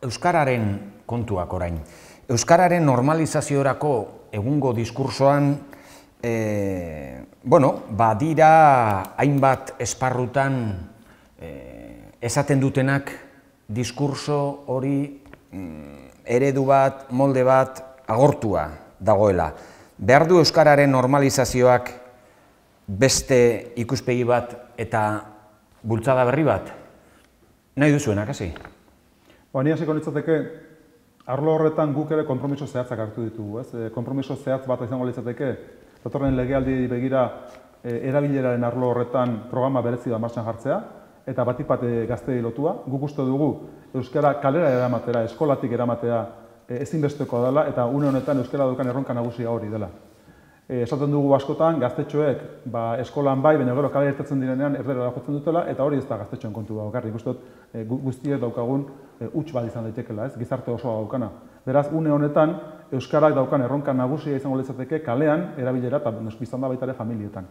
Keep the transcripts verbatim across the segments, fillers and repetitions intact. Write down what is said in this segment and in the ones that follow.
Euskararen kontuak orain. Euskararen normalizaziorako egungo diskursoan, badira hainbat esparrutan esaten dutenak diskurso hori eredu bat, molde bat agortua dagoela. Behar du euskararen normalizazioak beste ikuspegi bat eta bultzada berri bat? Nahi duzuenak, hasi? Ni hasiko nitzateke, arlo horretan guk ere konpromiso zehatzak hartu ditugu. Konpromiso zehatz bat izango litzateke, datorren legealdi begira erabileraren arlo horretan programa berezi bat martxan jartzea, eta batik bat gazteei lotua. Guk uste dugu euskara kalera eramatera, eskolatik eramatea ezinbestekoa dela, eta une honetan euskara dukan erronka nagusia hori dela. Esaten dugu askotan, gaztetxoek eskolan bai, baina gero kalera irtetzen direnean erdera jotzen dutela, eta hori ez da gaztetxoen kontu bakarrik. Ikusten dut guztiek daukagun huts bat izan daitekela, gizarte osoa daukana. Beraz, une honetan, euskarak daukan erronka nagusia izango litzateke kalean erabilera eta biztan da baita ere familietan.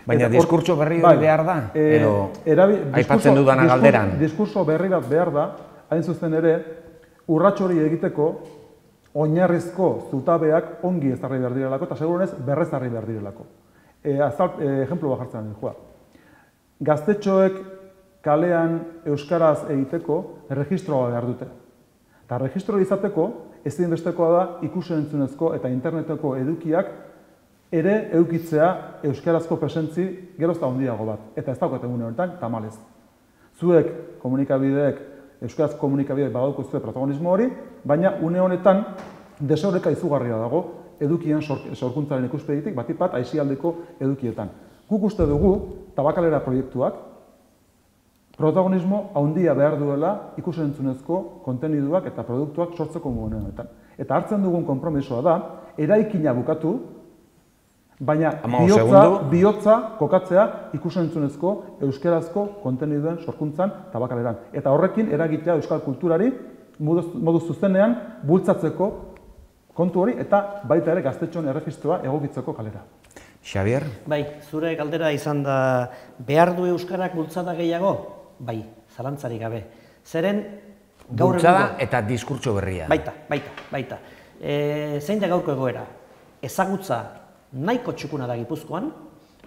Baina diskurtso berri hori behar da? Edo aipatzen dudana galderan? Diskurso berri bat behar da, hain zuzen ere, urrats hori egiteko oinarrizko zutabeak ongi ezarri behar direlako eta seguronez berrezarri behar direlako. Ejemplo bat jartzen joa. Gaztetxoek kalean euskaraz egiteko erregistroa behar dute. Eta erregistroa izateko ezinbestekoa da ikus-entzunezko eta interneteko edukiak ere edukitzea euskarazko presentzi gerozta handiago bat. Eta ez daukat egun honetan, tamalez. Zuek komunikabideek, euskarazko komunikabideek badauko zuen protagonismo hori, baina une honetan desoreka izugarria dago edukien sorkuntzaren ikuspegitik, batik bat aisialdeko edukietan. Guk uste dugu, tabakalera proiektuak, protagonismo handia behar duela ikus-entzunezko konteniduak eta produktuak sortzeko une honetan. Eta hartzen dugun konpromisoa da, eraikina bukatu, baina bihotza kokatzea ikus-entzunezko euskarazko konteniduen sorkuntzan tabakaleran. Eta horrekin eragitea euskal kulturari modu zuzenean bultzatzeko kontu hori eta baita ere gaztetxoen erregistroa egokitzeko kalera. Xabier? Bai, zure galdera izan da behar du euskarak bultzada gehiago? Bai, zalantzarik gabe. Zeren gaur bultzada eta diskurtso berria. Baita, baita, baita. Zein da gaurko egoera? Ezagutza nahiko txukuna da Gipuzkoan,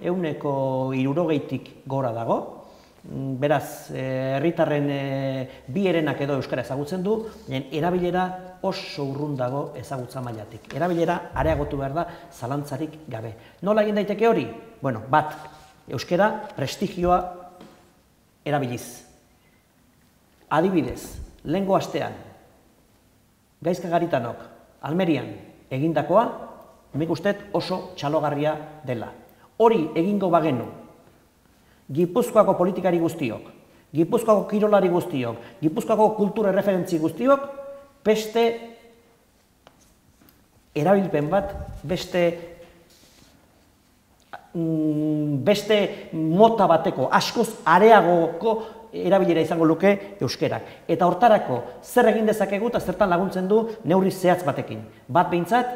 ehuneko hirurogeitik gora dago, beraz, herritarren bi herenak edo euskara ezagutzen du, erabilera oso urrun dago ezagutza mailatik. Erabilera areagotu behar da zalantzarik gabe. Nola egin daiteke hori? Bueno, bat, euskara prestigioa erabiliz. Adibidez, lehengo astean, Gaizka Garitanok, Almerian egindakoa, nik uste oso txalogarria dela. Hori egingo bagenu, Gipuzkoako politikari guztiok, Gipuzkoako kirolari guztiok, Gipuzkoako kultura referentzi guztiok, beste erabilpen bat, beste beste mota bateko, askoz areagoko erabilera izango luke euskerak. Eta hortarako, zer egin dezakegu eta zertan laguntzen du neurri zehatz batekin. Bat behintzat,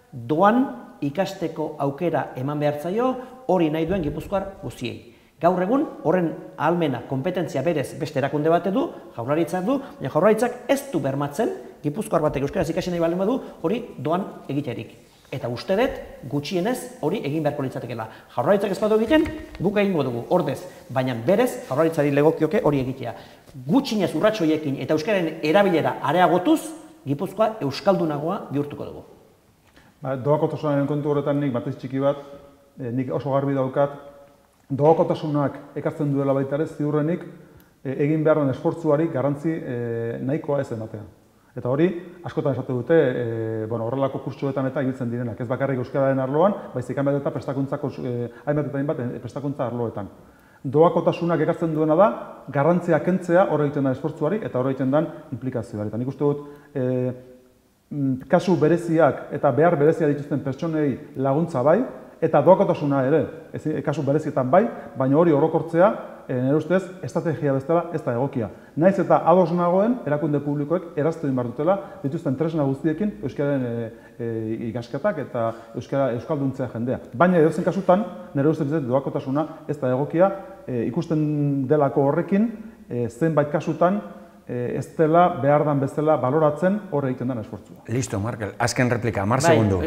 doan ikasteko aukera eman behar zaio, hori nahi duen Gipuzkoar guztiei. Gaur egun, horren ahalmena, kompetentzia berez beste erakunde bate du, jaurlaritzak du, baina jaurlaritzak ez du bermatzen, Gipuzkoar batek euskaraz ikasi nahi baldin badu, hori doan egiterik. Eta uste dut, gutxienez hori egin beharko litzatekeela. Jaurlaritzak ez badu egiten, guk egingo dugu, ordez, baina berez jaurlaritzari legokioke hori egitea. Gutxienez urrats horiekin eta euskaren erabilera areagotuz, Gipuzkoa euskaldunagoa bihurtuko dugu. Doakotasunaren kontu horretan nik batez txiki bat, nik oso garbi daukat, doakotasunak ekartzen duela baita ere ziurrenik egin behar den esfortzuari garrantzi nahikoa ez ematea. Eta hori, askotan esatu dute, horrelako kurtsuetan eta ibiltzen direnak. Ez bakarrik euskararen arloan, baizik hainbat eta prestakuntzako, hainbat eta hainbat prestakuntza arloetan. Doakotasunak ekartzen duena da, garrantzia kentzea hor egiten da esfortzuari eta hor egiten den implikazioari. Eta nik uste dut, kasu bereziak eta behar berezia dituzten pertsonei laguntza bai, eta doakotasuna ere, kasu berezietan bai, baina hori orokortzea, nire ustez, estrategia bezala ez da egokia. Naiz eta ados nagoen, erakunde publikoek eraztu egin behar dutela, dituzten tresna guztiekin euskararen ikasketak eta euskalduntzea jendea. Baina edozen kasutan, nire ustez doakotasuna ez da egokia, ikusten delako horrekin, zenbait kasutan, ez dela behar dan bezala baloratzen hor egiten den esfortzua. Listo, Markel. Azken replika, mar segundu.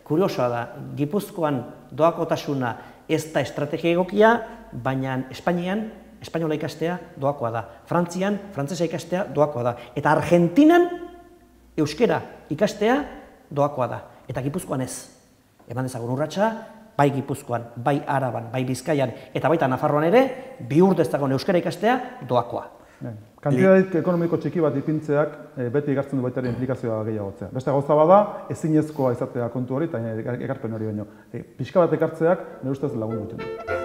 Kuriosoa da, Gipuzkoan doakotasuna ez da estrategia egokia, baina Espainian, espainola ikastea doakoa da. Frantzian, frantzesa ikastea doakoa da. Eta Argentinan, euskera ikastea doakoa da. Eta Gipuzkoan ez. Eman dezagun urratsa, bai Gipuzkoan, bai Araban, bai Bizkaian, eta baita Nafarroan ere, bihur dezagun euskera ikastea doakoa. Kantidadik ekonomiko txiki bat ipintzeak beti ekartzen du baita ere implikazioa gehiagotzea. Beste gauza bada, ezinezkoa izatea kontu hori, eta ekarpen hori baino. Pixka bat ekartzeak, nire ustez lagun duten.